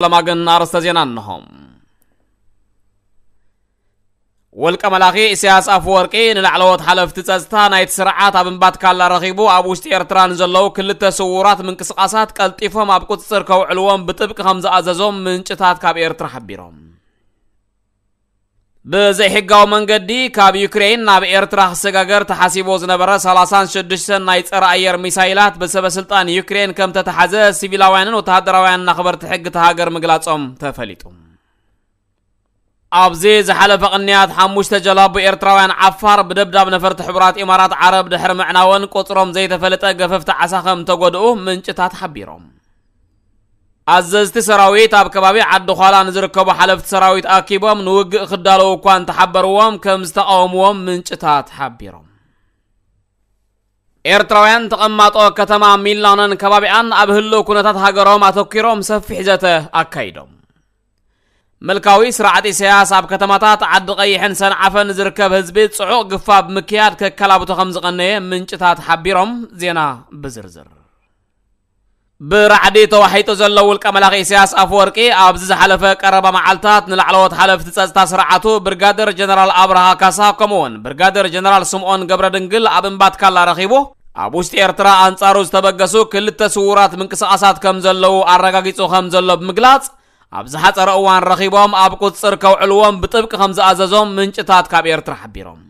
ለማ ግን ኣርእስተ ዜና እንሆ። ውልቀ መላኺ ኢሳያስ ኣፈወርቂ ንላዕለዎት ሓለፍቲ ጸጥታ ናይቲ ስርዓት ኣብ እምባትካላ ረኺቡ ኣብ ውሽጢ ኤርትራ ንዘለዉ ክልተ ስዉራት ምንቅስቓሳት ቀልጢፎም ኣብ ቁጽጽር ከውዕልዎም ብጥብቂ ከም ዝኣዘዞም ምንጭታት ካብ ኤርትራ ሓቢሮም። ብዘይሕጋዊ መንገዲ ካብ ዩክሬን ናብ ኤርትራ ክሰጋገር ተሓሲቡ ዝነበረ ሰላሳን ሽዱሽተን ናይ ጸረ ኣየር ሚሳይላት ብሰበ ስልጣን ዩክሬን ከም ተተሓዘ ሲቪላውያንን ወተሃደራውያንን ኣኽበርቲ ሕጊ እታ ሃገር ምግላጾም ተፈሊጡ። ኣብዚ ዝሓለፈ ቅንያት ሓሙሽተ ጀላቡ ኤርትራውያን ዓፋር ብደብዳብ ነፈርቲ ሕቡራት ኢማራት ዓረብ ድሕሪ ምዕናወን ቁጽሮም ዘይተፈለጠ ገፈፍቲ ዓሳ ከም ተጎድኡ ምንጭታት ሓቢሮም። ኣዘዝቲ ሰራዊት ኣብ ከባቢ ዓዲ ዃላ ንዝርከቡ ሓለፍቲ ሰራዊት ኣኪቦም ንውግእ ክዳለዉ እኳ እንተሓበርዎም ከም ዝተቃወምዎም ምንጭታት ሓቢሮም። ኤርትራውያን ተቐማጦ ከተማ ሚላኖን ከባቢኣን ኣብ ህልው ኩነታት ሃገሮም ኣተኪሮም ሰፊሕ ዘተ ኣካይዶም። ምልካዊ ስርዓት ኢሳያስ ኣብ ከተማታት ዓዲ ቀይሕን ሰንዓፈን ዝርከብ ህዝቢ ጽዑቕ ግፋ ብምክያድ ከከላብቶ ከም ዝቐነየ ምንጭታት ሓቢሮም ዜና ብዝርዝር። ብራዕዲ ተዋሒጡ ዘሎ ውልቀ መላኺ ኢሳያስ ኣፈወርቂ ኣብዚ ዝሓለፈ ቀረባ መዓልታት ንላዕለዎት ሓለፍቲ ጸጥታ ስርዓቱ ብርጋደር ጀነራል ኣብርሃ ካሳ ከምኡውን ብርጋደር ጀነራል ስምኦን ገብረ ድንግል ኣብ እምባትካላ ረኺቡ ኣብ ውሽጢ ኤርትራ ኣንጻሩ ዝተበገሱ ክልተ ስዉራት ምንቅስቓሳት ከም ዘለዉ ኣረጋጊጹ ከም ዘሎ ብምግላጽ ኣብ ዝሓጸረ እዋን ረኺቦም ኣብ ቁጽጽር ከውዕልዎም ብጥብቂ ከም ዝኣዘዞም ምንጭታት ካብ ኤርትራ ሓቢሮም።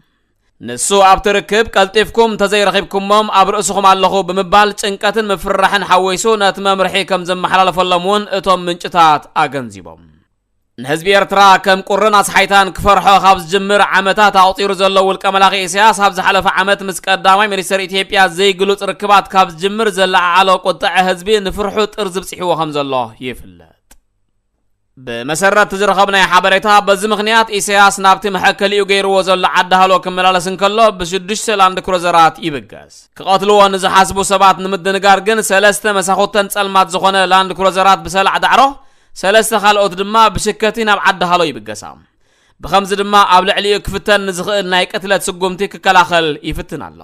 ንሱ ኣብቲ ርክብ ቀልጢፍኩም እንተዘይረኺብኩሞም ኣብ ርእስኹም ኣለኹ ብምባል ጭንቀትን ምፍርራሕን ሓዊሱ ነቲ መምርሒ ከም ዘመሓላለፈሎም እውን እቶም ምንጭታት ኣገንዚቦም። ንህዝቢ ኤርትራ ከም ቁርን ኣስሓይታን ክፈርሖ ካብ ዝጅምር ዓመታት ኣቑጺሩ ዘሎ ውልቀ መላኺ ኢሳያስ ኣብ ዝሓለፈ ዓመት ምስ ቀዳማይ ሚኒስተር ኢትዮጵያ ዘይግሉጽ ርክባት ካብ ዝጅምር ዘለዓዓሎ ቁጥዐ ህዝቢ ንፍርሑ ጥርዚ ብጽሕዎ ከም ዘሎ ይፍለጥ። ብመሰረት ዝረኸብናዮ ሓበሬታ በዚ ምኽንያት ኢሳያስ ናብቲ መሐከሊኡ ገይርዎ ዘሎ ዓዲ ሃሎ ክመላለስ እንከሎ ብሽዱሽተ ላንድ ክሩዘራት ይብገስ። ክቐትልዎ ንዝሓስቡ ሰባት ንምድንጋር ግን ሰለስተ መሳኹተን ጸልማት ዝኾነ ላንድ ክሩዘራት ብሰላዕ ዳዕሮ፣ ሰለስተ ካልኦት ድማ ብሽከቲ ናብ ዓዲ ሃሎ ይብገሳ። ብኸምዚ ድማ ኣብ ልዕሊኡ ክፍተን ንዝኽእል ናይ ቅትለት ስጉምቲ ክከላኸል ይፍትን ኣሎ።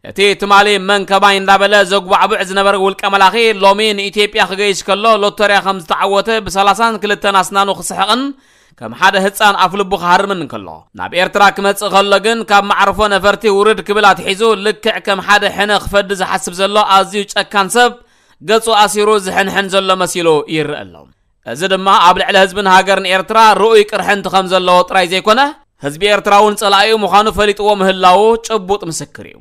እቲ ትማሊ መን ከማይ እንዳበለ ዘጉባዕቡዕ ዝነበረ ውልቀ መላኺ ሎሚ ንኢትዮጵያ ክገይሽ ከሎ ሎተርያ ከም ዝተዓወተ ብሰላሳን ክልተን ኣስናኑ ክስሕቕን ከም ሓደ ህፃን ኣፍ ልቡ ክሃርምን እንከሎ ናብ ኤርትራ ክመጽእ ከሎ ግን ካብ መዕርፎ ነፈርቲ ውርድ ክብል ኣትሒዙ ልክዕ ከም ሓደ ሕነ ክፈዲ ዝሓስብ ዘሎ ኣዝዩ ጨካን ሰብ ገጹ ኣሲሩ ዝሕንሕን ዘሎ መሲሉ ይረአ ኣሎ። እዚ ድማ ኣብ ልዕሊ ህዝብን ሃገርን ኤርትራ ርኡይ ቅርሕንቲ ከም ዘለዎ ጥራይ ዘይኮነ ህዝቢ ኤርትራ እውን ጸላኢኡ ምዃኑ ፈሊጥዎ ምህላዉ ጭቡጥ ምስክር እዩ።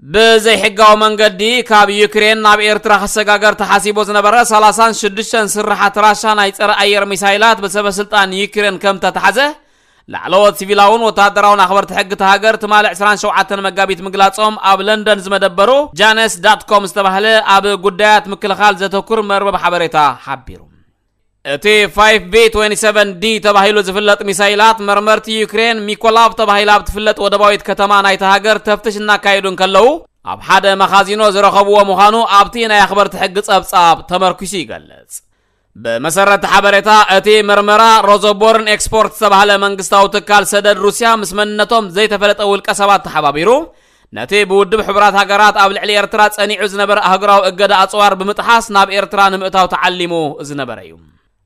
ብዘይሕጋዊ መንገዲ ካብ ዩክሬን ናብ ኤርትራ ክሰጋገር ተሓሲቡ ዝነበረ ሰላሳን ሽዱሽተን ስርሓት ራሻ ናይ ጸረ ኣየር ሚሳይላት ብሰበ ስልጣን ዩክሬን ከም ተታሓዘ ላዕለዎት ሲቪላውን ወተሃደራውን ኣኽበርቲ ሕጊ እታ ሃገር ትማሊ ዕስራን ሸውዓተን መጋቢት ምግላጾም ኣብ ለንደን ዝመደበሩ ጃነስ ዳት ኮም ዝተባህለ ኣብ ጉዳያት ምክልኻል ዘተኩር መርበብ ሓበሬታ ሓቢሩ። እቲ ፋይቭ ቢ ትዌንቲ ሰቨን ዲ ተባሂሉ ዝፍለጥ ሚሳይላት መርመርቲ ዩክሬን ሚኮላቭ ተባሂላ ኣብ ትፍለጥ ወደባዊት ከተማ ናይታ ሃገር ተፍትሽ እናካየዱ እንከለዉ ኣብ ሓደ መኻዚኖ ዝረኸብዎ ምዃኑ ኣብቲ ናይ ኣኽበርቲ ሕጊ ጸብጻብ ተመርኪሱ ይገልጽ። ብመሰረት ሓበሬታ እቲ መርመራ ሮዞቦርን ኤክስፖርት ዝተባህለ መንግስታዊ ትካል ሰደድ ሩስያ ምስ መንነቶም ዘይተፈለጠ ውልቀ ሰባት ተሓባቢሩ ነቲ ብውድብ ሕቡራት ሃገራት ኣብ ልዕሊ ኤርትራ ጸኒዑ ዝነበረ ኣህጉራዊ እገዳ ኣጽዋር ብምጥሓስ ናብ ኤርትራ ንምእታው ተዓሊሙ ዝነበረ እዩ።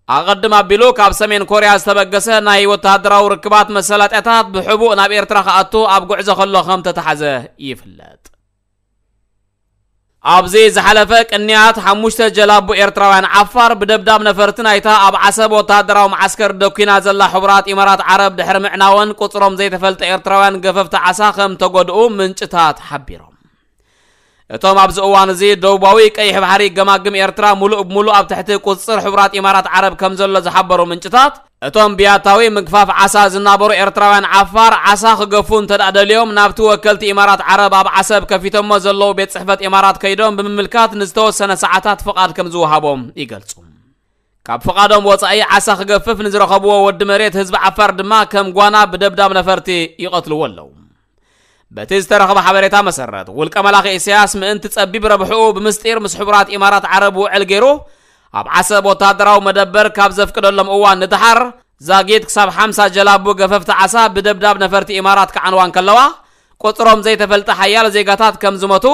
ኣቐድም ኣቢሉ ካብ ሰሜን ኮርያ ዝተበገሰ ናይ ወተሃደራዊ ርክባት መሰላጥያታት ብሕቡእ ናብ ኤርትራ ክኣቱ ኣብ ጉዕዞ ከሎ ከም ተተሓዘ ይፍለጥ። ኣብዚ ዝሓለፈ ቅንያት ሓሙሽተ ጀላቡ ኤርትራውያን ዓፋር ብደብዳብ ነፈርቲ ናይታ ኣብ ዓሰብ ወተሃደራዊ መዓስከር ደኲና ዘላ ሕቡራት ኢማራት ዓረብ ድሕሪ ምዕናወን ቁጽሮም ዘይተፈልጠ ኤርትራውያን ገፈፍቲ ዓሳ ከም ተጎድኡ ምንጭታት ሓቢሮም። እቶም ኣብዚ እዋን እዚ ደቡባዊ ቀይሕ ባሕሪ ገማግም ኤርትራ ሙሉእ ብሙሉእ ኣብ ትሕቲ ቁጽጽር ሕቡራት ኢማራት ዓረብ ከም ዘሎ ዝሓበሩ ምንጭታት እቶም ብያታዊ ምግፋፍ ዓሳ ዝናበሩ ኤርትራውያን ዓፋር ዓሳ ክገፉ እንተ ደኣ ደልዮም ናብቲ ወከልቲ ኢማራት ዓረብ ኣብ ዓሰብ ከፊቶሞ ዘለዉ ቤት ጽሕፈት ኢማራት ከይዶም ብምምልካት ንዝተወሰነ ሰዓታት ፍቓድ ከም ዝወሃቦም ይገልጹ። ካብ ፍቓዶም ወጻኢ ዓሳ ክገፍፍ ንዝረኸብዎ ወዲ መሬት ህዝቢ ዓፋር ድማ ከም ጓና ብደብዳብ ነፈርቲ ይቐትልዎ ኣለዉ። በቲ ዝተረኸበ ሓበሬታ መሰረት ውልቀ መላኺ ኢሳያስ ምእንቲ ጸቢብ ረብሕኡ ብምስጢር ምስ ሕቡራት ኢማራት ዓረብ ውዕል ገይሩ ኣብ ዓሰብ ወታደራዊ መደበር ካብ ዘፍቅደሎም እዋን ንደሓር ዛጊት ክሳብ ሓምሳ ጀላቡ ገፈፍቲ ዓሳ ብደብዳብ ነፈርቲ ኢማራት ክዓንዋ እንከለዋ ቁጽሮም ዘይተፈልጠ ሓያለ ዜጋታት ከም ዝሞቱ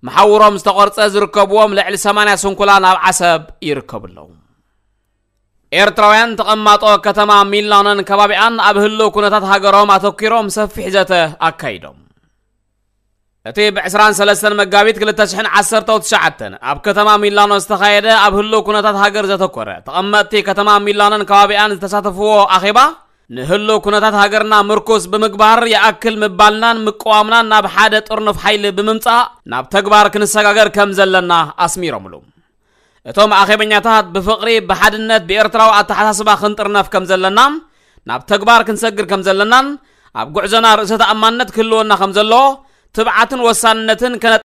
መሓውሮም ዝተቖርጸ ዝርከብዎም ልዕሊ ሰማንያ ስንኩላን ኣብ ዓሰብ ይርከቡ ኣለዉ። ኤርትራውያን ተቐማጦ ከተማ ሚላኖን ከባቢኣን ኣብ ህልው ኩነታት ሃገሮም ኣተኲሮም ሰፊሕ ዘተ ኣካይዶም። እቲ ብ ዕስራን ሰለስተን መጋቢት ክልተ ሽሕን ዓሰርተው ትሽዓተን ኣብ ከተማ ሚላኖ ዝተኻየደ ኣብ ህልው ኩነታት ሃገር ዘተኮረ፣ ተቐመጥቲ ከተማ ሚላኖን ከባቢኣን ዝተሳተፍዎ ኣኼባ፣ ንህልው ኩነታት ሃገርና ምርኩስ ብምግባር፣ ይኣክል ምባልናን ምቅዋምናን ናብ ሓደ ጥርኑፍ ሓይሊ ብምምጻእ ናብ ተግባር ክንሰጋገር ከም ዘለና ኣስሚሮምሉ። እቶም ኣኼበኛታት ብፍቕሪ፣ ብሓድነት፣ ብኤርትራዊ ኣተሓሳስባ ክንጥርነፍ ከም ዘለና፣ ናብ ተግባር ክንሰግር ከም ዘለናን ኣብ ጉዕዞና ርእሰ ተኣማንነት ክህልወና ከም ዘለዎ፣ ትብዓትን ወሳንነትን ከነ